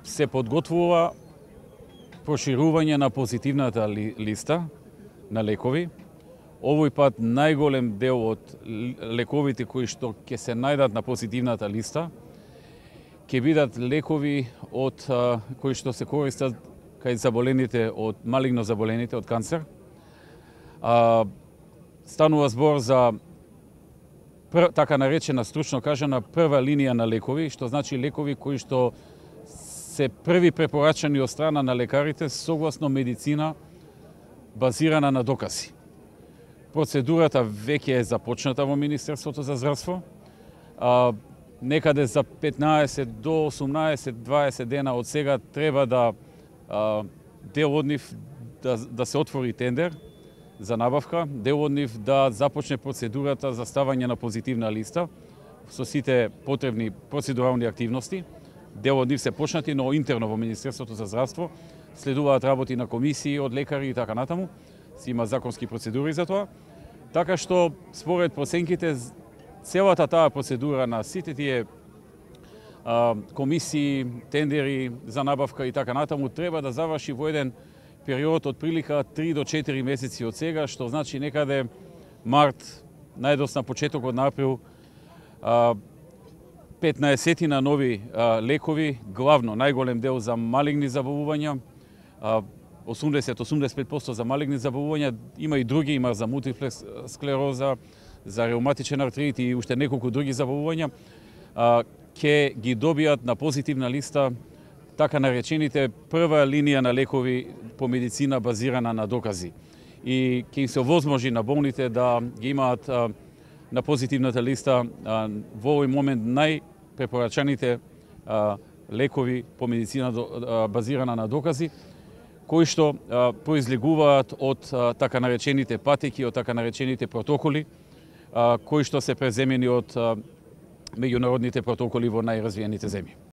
се подготвува проширување на позитивната листа на лекови. Овој пат најголем дел од лековите кои што ќе се најдат на позитивната листа ќе бидат лекови од кои што се користат кај заболените од малигно заболените од канцер. Станува збор за така наречена, стручно кажана, прва линија на лекови, што значи лекови кои што се први препорачани од страна на лекарите согласно медицина базирана на докази. Процедурата веќе е започната во Министерството за здравство. Некаде за 15 до 18-20 дена од сега треба да дел од нив да се отвори тендер за набавка, дел од нив да започне процедурата за ставање на позитивна листа со сите потребни процедурални активности. Дел од нив се почнати, но интерно во Министерството за здравство следуваат работи на комисии од лекари и така натаму. Си има законски процедури за тоа. Така што според проценките целата таа процедура на сите тие комисии, тендери за набавка и така натаму треба да заврши во еден период од прилика 3 до 4 месеци од сега, што значи некаде март, најдосна почетокот на април, 15 на нови лекови, главно најголем дел за малигни заболувања, 80-85% за малигни заболувања, има и други, има за мултиплекс склероза, за реуматичен артрит и уште неколку други заболувања, ќе ги добијат на позитивна листа така наречените прва линија на лекови по медицина базирана на докази. И ќе им се овозможи на болните да ги имаат на позитивната листа во овој момент најпрепорачаните лекови по медицина базирана на докази, кои што произлегуваат од така наречените патеки, од така наречените протоколи, кои што се преземени од меѓународните протоколи во најразвиените земји.